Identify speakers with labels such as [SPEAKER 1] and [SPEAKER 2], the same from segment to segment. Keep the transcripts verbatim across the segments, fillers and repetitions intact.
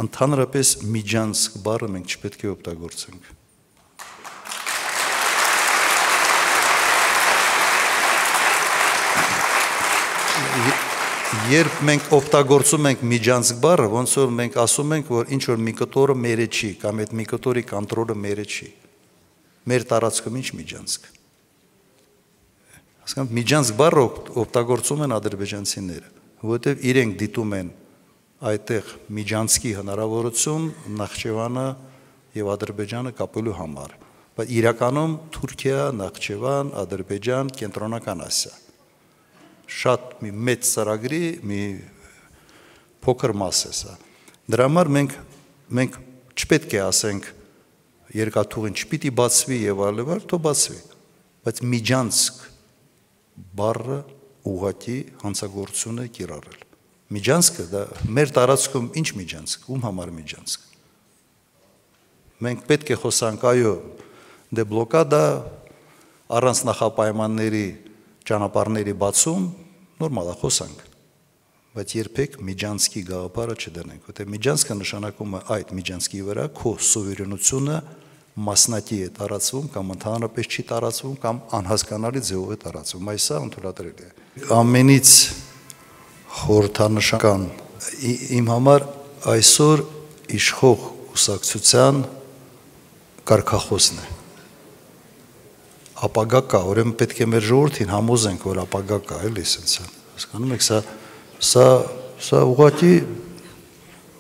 [SPEAKER 1] Ընդհանրապես միջանցք բառը մենք չպետք է օգտագործենք։ Երբ մենք օգտագործում ենք միջանցք բառը, ոնց որ մենք ասում ենք, որ ինչ որ մի կտորը մերը չի, կամ այդ մի կտորի կոնտրոլը մերը չի։ Մեր տարածքում ինչ միջանցք։ Հասկանաք, միջանցք բառը օգտագործում են ադրբեջանցիները, որովհետև իրենք դիտում են այդտեղ միջանցքի հնարավորություն Նախճեվանը եւ Ադրբեջանը կապելու համար, բայց իրականում Թուրքիա, Նախճեվան, Ադրբեջան, Կենտրոնական Ասիա շատ մի մեծ ծրագրի մի փոքր մաս է սա։ Դրա համար մենք մենք չպետք է ասենք երկաթուղին չպիտի բացվի եւ այլն, թող բացվի, բայց միջանցք բառը ուղղակի հանցագործություն է կիրառել։ Միջանցքը դա մեր տարածքում ինչ միջանցք, ում համար միջանցք։ Մենք պետք է խոսանք, այո, դե բլոկադա առանց նախապայմանների ճանապարհների բացում, նորմալ է խոսանք, բայց երբեք միջանցքի գաղափարը չդնենք, որտեղ միջանցքը նշանակում է այդ միջանցքի վրա քո սուվերենությունը մասնակի է տարածվում կամ ընդհանրապես չի տարածվում կամ անհասկանալի ձևով է տարածվում, այս սա ընդունատրելի է։ Ամենից խորհրդանշական իմ համար այսօր իշխող կուսակցության կարգախոսն է։ Ապագա կա, ուրեմն պետք է մեր ժողովրդին համոզենք, որ ապագա կա, էլի սենց, հասկանում եք, սա սա սա ուղղակի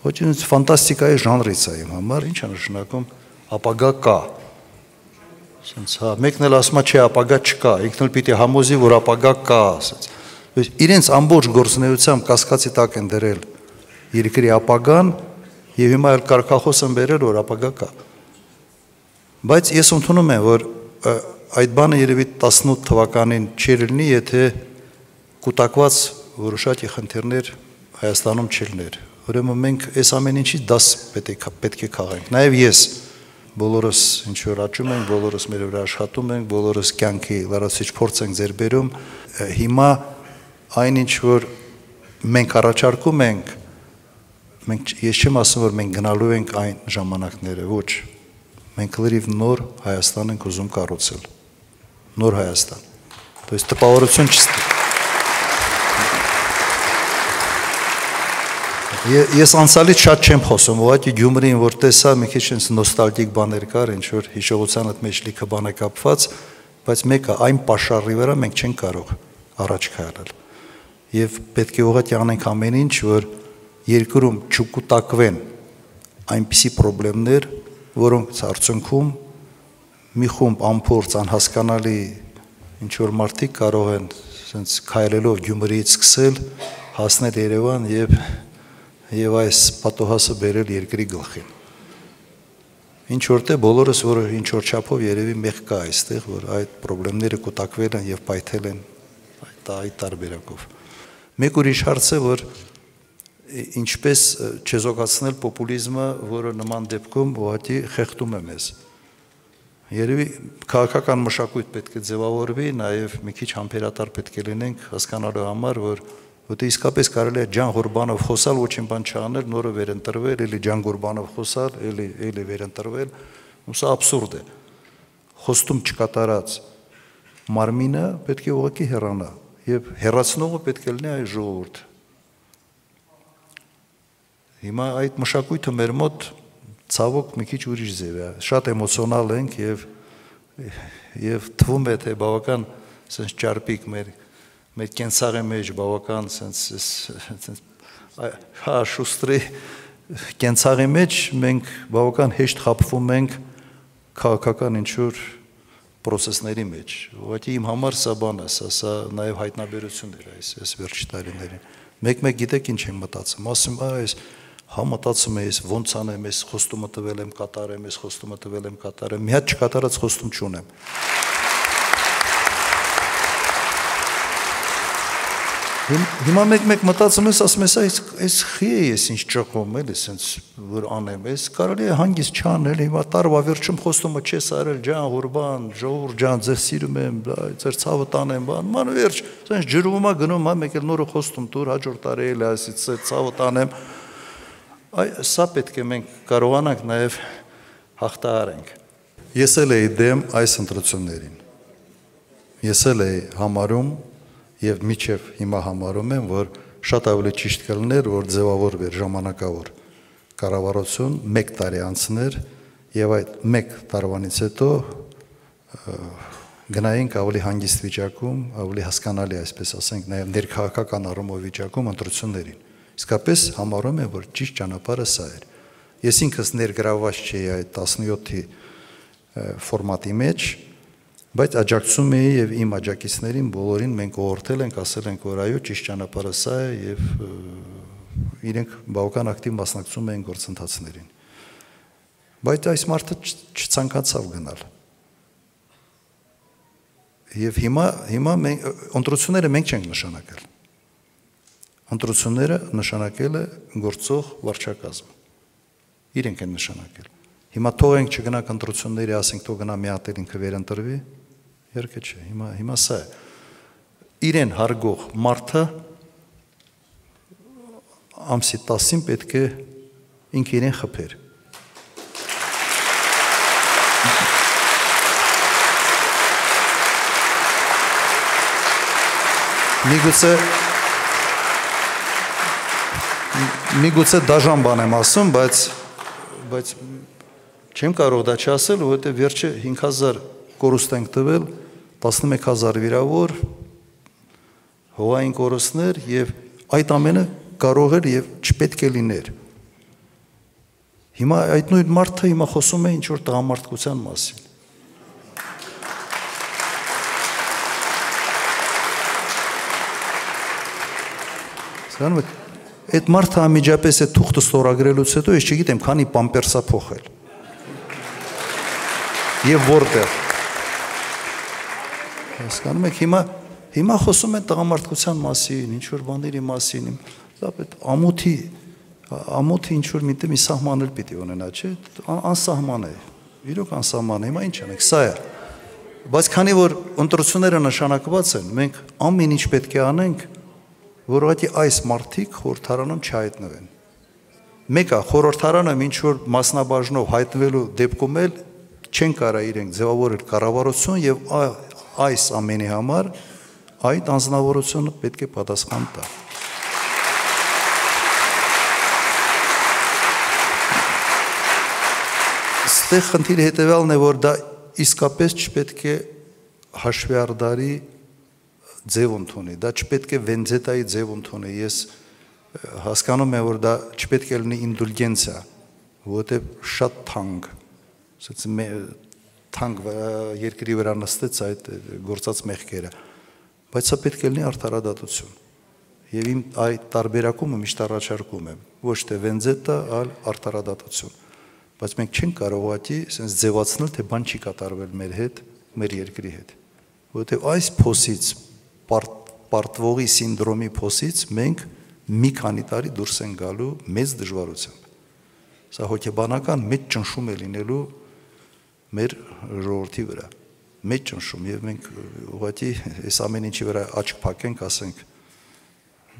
[SPEAKER 1] ոչ ֆանտաստիկայի ժանրից է իմ համար, ինչ է նշանակում ապագա կա։ Սենց, հա, մեկն էլ ասում է, չէ, ապագա չկա, ինքն էլ պիտի համոզի, որ ապագա կա, ասենց։ Իրենց ամբողջ գործունեությամբ կասկածի տակ են դրել երկրի ապագան եւ հիմա էլ կարգախոս են բերել, որ ապագա կա։ Բայց ես ընդունում եմ, որ այդ բանը երևի տասնութ թվականին չէր լինի, եթե կուտակված որոշակի խնդիրներ Հայաստանում չլիներ։ Ուրեմն մենք այս ամեն ինչի դաս պետք է քաղենք։ Նաև ես բոլորս ինչ որ աճում ենք, բոլորս մեր վրա աշխատում ենք, բոլորս կյանքի լրացուցիչ փորձ ենք ձեռք բերում։ Հիմա այն ինչ որ մենք առաջարկում ենք, մենք ես չեմ ասում, որ մենք գնալու ենք այն ժամանակները, ոչ։ Մենք լրիվ նոր Հայաստան ենք ուզում կառուցել։ Նոր Հայաստան։ То есть տպավորություն չստի։ Ես անցյալից շատ չեմ խոսում, ուղղակի Գյումրին որ տեսա, մի քիչ այնց նոստալգիկ բաներ կար, ինչ որ հիշողության հետ մեջ լիքը բան է կապված, բայց մեկը այն պաշարի վրա մենք չենք կարող առաջ քայլել։ Եվ պետք է ուղղակի անենք ամեն ինչ, որ երկրում չկուտակվեն այնպիսի խնդիրներ, որոնց արդյունքում մի խումբ անփորձ անհասկանալի ինչ որ մարդիկ կարող են sense քայլելով Գյումրիից սկսել հասնել Երևան եւ եւ այս պատոհասը բերել երկրի գլխին։ Ինչ որտե բոլորս որ ինչ որ չափով երևի մեղ կա այստեղ, որ այդ խնդիրները կուտակվել են եւ պայթել են այդ այդ տարբերակով։ Մեկ ուրիշ հարց է, որ ինչպես չեզոքացնել պոպուլիզմը, որը նման դեպքում ուղղակի խեղդում է մեզ։ Երևի քաղաքական մշակույթ պետք է ձևավորվի, նաև մի քիչ համբերատար պետք է լինենք հասկանալու համար, որ որտե իսկապես կարելի է Ջան Ղուրբանով խոսալ, ոչինչ բան չանել, նորը վերընտրվել, էլի Ջան Ղուրբանով խոսալ, էլի էլի վերընտրվել, ու սա աբսուրդ է։ Խոստում չկատարած մարմինը պետք է ուղղակի հեռանա, եւ հեռացնողը պետք է լինի այս ժողովուրդը։ Հիմա այդ մշակույթը մեր մոտ ցավոք մի քիչ ուրիշ ձև է, շատ էմոցիոնալ ենք եւ եւ թվում է թե բավական sense ճարպիկ մեր մեր կենցաղի մեջ բավական sense sense հա շուստրի կենցաղի մեջ մենք բավական հեշտ խապվում ենք քաղաքական ինչ-որ process-ների մեջ։ Ուղղակի իմ համար սա բան է, սա սա նաեւ հայտնաբերություն էր այս այս վերջի տարիներին։ Մեկ-մեկ գիտեք ինչ եմ մտածում, ասում այս հա մտածում եմ, ոնց անեմ, ես խոստումը տվել եմ կատարեմ, ես խոստումը տվել եմ կատարեմ, մի հատ չկատարած խոստում չունեմ։ Հիմա մեկ-մեկ մտածում ես, ասում ես, այս խի է ես ինչ ճղում, էլի, սենց որ անեմ, այս կարելի է հանգիստ չանել, հիմա տարվա վերջում խոստումը չես արել, ջան, ղուրբան, ժողովուրդ ջան, ձեզ սիրում եմ, ձեր ցավը տանեմ, բան, ման վերջ, սենց ջրվում է գնում, հա, մեկ էլ նորը խոստում տուր, հաջորդ տարի էլի այսից ցավը տանեմ։ Այ սա պետք է մենք կարողանանք նաև հաղթահարենք։ Ես էլ էի դեմ այս ընտրություններին։ Ես էլ էի համարում եւ միջև հիմա համարում եմ, որ շատ ավելի ճիշտ կլիներ, որ ձևավորվեր ժամանակավոր կառավարություն մեկ տարի անցներ եւ այդ մեկ տարվանից հետո գնայինք ավելի հանգիստ վիճակում, ավելի հասկանալի, այսպես ասենք, նաեւ ներքաղաքական առումով վիճակում ընտրություններին։ Իսկապես համարում եմ, որ ճիշտ ճանապարհը սա էր։ Ես ինքս ներգրավված չէի այդ տասնյոթի ֆորմատի մեջ, բայց աջակցում էի եւ իմ աջակիցներին բոլորին մենք ուղղորդել ենք, ասել ենք, որ այո, ճիշտ ճանապարհը սա է եւ իրենք բավական ակտիվ մասնակցում էին գործընթացներին։ Բայց այս մարդը չցանկացավ գնալ։ Եվ հիմա հիմա մենք ընտրությունները մենք չենք նշանակել։ Ընտրությունները նշանակել է գործող վարչակազմը։ Իրենք են նշանակել։ Հիմա թողենք չգնանք ընտրությունների, ասենք թող գնա մի հատ ինքը վերընտրվի, երկը չէ, հիմա հիմա սա է։ Իրեն հարգող մարդը ամսի տասին պետք է ինքը իրեն խփեր։ Միգուցե միգուցե դաժան բան եմ ասում, բայց բայց չեմ կարող դա չասել, որովհետև վերջը հինգ հազար կորուստ ենք տվել, տասնմեկ հազար վիրավոր, հողային կորուստներ եւ այդ ամենը կարող էր եւ չպետք է լիներ։ Հիմա այդ նույն մարդը հիմա խոսում է ինչ որ տղամարդկության մասին։ Սրանք այդ մարդը անմիջապես է թուղթը ստորագրելուց հետո ես չգիտեմ քանի պամպերսա փոխել։ Եվ որտեղ։ Հասկանում եք, հիմա հիմա խոսում են տղամարդկության մասին, ինչ որ բաների մասին, այդ ամոթի ամոթի ինչ որ միտը մի սահման էլ պիտի ունենա, չէ՞, անսահման է։ Իրոք անսահման է, հիմա ինչ անենք, սա է։ Բայց քանի որ ընտրությունները նշանակված են, մենք ամեն ինչ պետք է անենք, որ ուղղակի այս մարդիկ խորհրդարանում չհայտնվեն։ Մեկը խորհրդարանը ինչ որ մասնաբաժնով հայտնվելու դեպքում էլ չեն կարող իրենք ձևավորել կառավարություն եւ այս ամենի համար այդ անձնավորությունը պետք է պատասխան տա։ Այստեղ խնդիրը հետեւյալն է, որ դա իսկապես չպետք է հաշվեհարդարի ձև ընդունի, դա չպետք է վենձետայի ձև ընդունի, ես հասկանում եմ, որ դա չպետք է լինի ինդուլգենցիա, որովհետև շատ թանկ, թանկ երկրի վրա նստեց այդ գործած մեղքերը, բայց սա պետք է լինի արդարադատություն, և իմ այդ տարբերակումը միշտ առաջարկում եմ, ոչ թե վենձետա, այլ արդարադատություն, բայց մենք չենք կարող ուղղակի ձևացնել, թե բան չի կատարվել մեր հետ, մեր երկրի հետ, որովհետև այս փոսից պարտվողի սինդրոմի փոսից մենք մի քանի տարի դուրս են գալու մեծ դժվարությամբ։ Սա հոգեբանական մեծ ճնշում է լինելու մեր ժողովրդի վրա, մեծ ճնշում, եւ մենք ուղղակի այս ամեն ինչի վրա աչք փակենք, ասենք,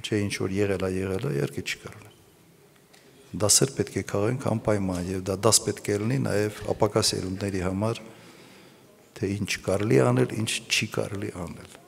[SPEAKER 1] չէ, ինչ որ եղել է, եղել է, իհարկե չի կարող։ Դասեր պետք է քաղենք անպայման, եւ դա դաս պետք է լինի նաեւ ապակա սերունդների համար, թե ինչ կարելի անել, ինչ չի կարելի անել։